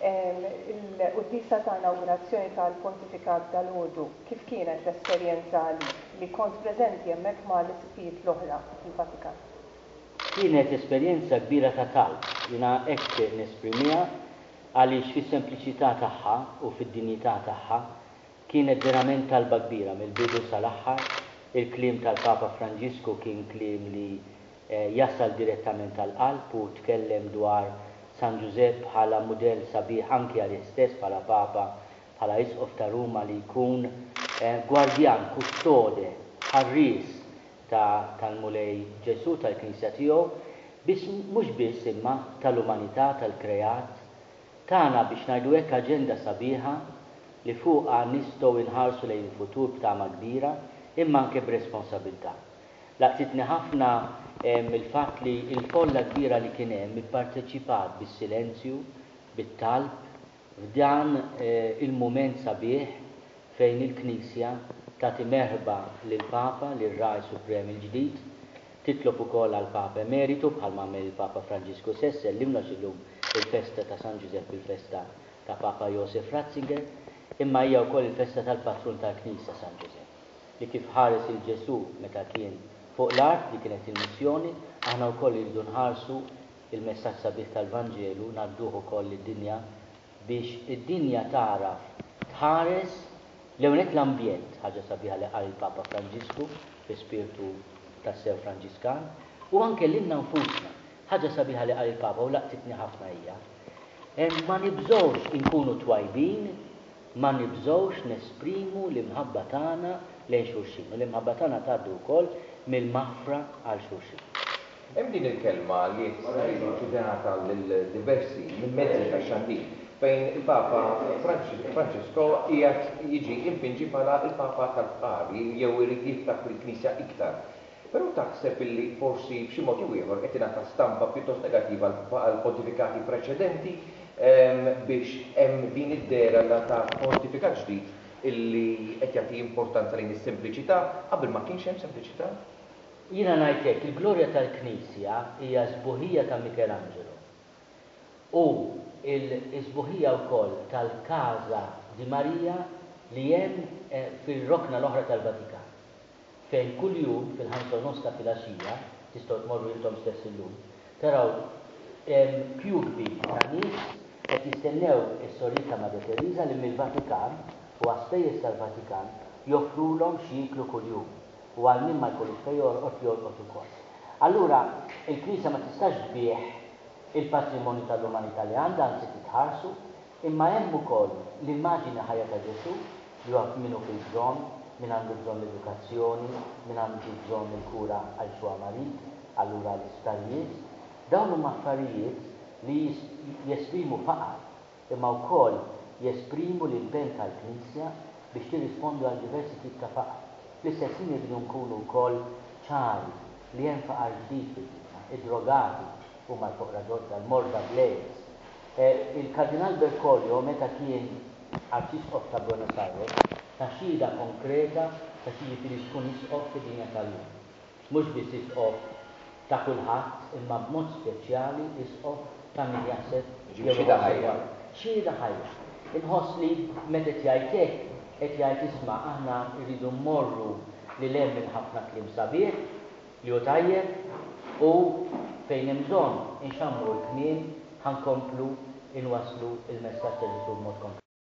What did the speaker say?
Il-quddiesa ta' inawgurazzjoni tal-pontifikat dalgħodu, kif kienet l-esperjenza għalik li kont preżenti hemmhekk ma' l-isqfijiet l-oħra fil-Vatikan? Kienet esperjenza kbira ta' talb, jiena hekk nesprimiha għaliex fis-sempliċità tagħha u fid-dinjità tagħha kienet verament talba kbira mill-bidu sal-aħħar. Il-kliem tal-Papa Franġisku kien kliem li jasal direttament għall-qalb u tkellem dwar San Ġużepp bħala mudell sabiħ anki għalih stess bħala Papa, bħala Isqof ta' Ruma li jkun gwardjan, kustode, ħarries ta' tal-Mulej Ġesù, tal-Knisja tiegħu, biss mhux biss imma tal-umanità, tal-kreat. Tana, biex ngħidu hekk, aġenda sabiħa li fuqha nistgħu inħarsu lejn il-futur b'tama kbira, imma anke b'responsabilità. Laqtitni ħafna il-fatt li l-folla kbira li kien hemm ipparteċipat bis-silenzju, bit-talb, f'dan il-mument sabiħ fejn il-Knisja tagħti merħba lill-Papa, lir-Ragħaj Suprem il-ġdid, titlob ukoll għall-Papa Emeritu bħalma għamel il-Papa Franġisku stess, sellimlu għax illum il-festa ta' San Ġużepp il-festa ta' Papa Josef Ratzinger, imma hija wkoll il-festa tal-patrun tal-Knisja San Ġużepp, li kif ħares 'il Ġesù meta kien fuq l-art, li kienet il-missjoni, aħna wkoll irridu nħarsu il-messaġġ sabiħ tal-Vanġelu ngħadduh ukoll lid-dinja biex id-dinja tagħraf tħares l-ewwel nett l-ambjent, ħaġa sabiħa li qal il-Papa Franġisku fi spirtu tassew Franġiskan, u anke lilna nfusna. Ħaġa sabiħa li qal il-Papa u laqtitni ħafna hija, ma nibżgħux inkunu twajbin, ma nibżgħux nesprimu l-imħabba tagħna lejn xulxin, u l-imħabba tagħna tgħaddi wkoll mill-maħfra għal xulxin. Hemm din il-kelma li qed tingħata lil diversi mezzi tax-xandir fejn il-Papa Francesco qiegħed jiġi impinġi bħala l-Papa tal-fqar jew irid jiftaħ lill-Knisja iktar. Però taħseb illi forsi b'xi mod jew ieħor qed tingħata stampa pjuttost negattiva għall-pontifikati preċedenti biex hemm din id-dehra ta' pontifikat ġdid illi qed jagħti importanza lejn is-sempliċità qabel ma kienx hemm sempliċità? Jiena ngħid hekk, il-glorja tal-Knisja hija s-sbuħija ta' Michelangelo u l-sbuħija wkoll tal-Casa di Maria li hemm fir-rokna l-oħra tal-Vatikan, fejn kuljum fil-ħamsa u nofs ta' filgħaxija, tistgħu tmorru intom stess illum, taraw kju kbir ta' nies qed jistennew is-sorijiet ta' Madre Teresa li mill-Vatikan u għas-spejjeż tal-Vatikan joffrulhom x'jieklu kuljum. u għal min ma jkollux fejn jorqod, jorqod ukoll. Allura, il-Knisja ma tistax tbigħ il-patrimonju tal-umanità li għandha, anzi trid tħarsu, imma hemm ukoll l-immaġini ħajja ta' Ġesù, li huwa min hu fil-bżonn, min għandu bżonn l-edukazzjoni, min għandu bżonn il-kura għaliex huwa marid, allura l-isptarijiet. Dawn huma affarijiet li jesprimu faqar imma wkoll jesprimu l-impenn tal-Knisja biex tirrispondi għal diversi tip ta' faqar. Fl-istess ħin irridu nkunu wkoll ċari li hemm faqar ġdid fid-dinja, id-drogati huma l-foqra ġodda, l-morda bl-AIDS. Il-Kardinal Bergoglio meta kien Arċisqof ta' Buenos Aires ta xhieda konkreta ta' x'jiġifieri tkun isqof fid-dinja tal-lum. Mhux biss isqof ta' kulħadd imma b'mod speċjali isqof ta' min jaħseb jew Xhieda ħajja. Xhieda ħajja. Inħoss li meta qed jgħid hekk, qed jgħid isma' aħna rridu mmorru lil hemm minn ħafna kliem sabiħ, li hu tajjeb, u fejn hemm bżonn inxammru l-kmiem ħa nkomplu nwasslu l-messaġġ ta' Ġesù b'mod konkret.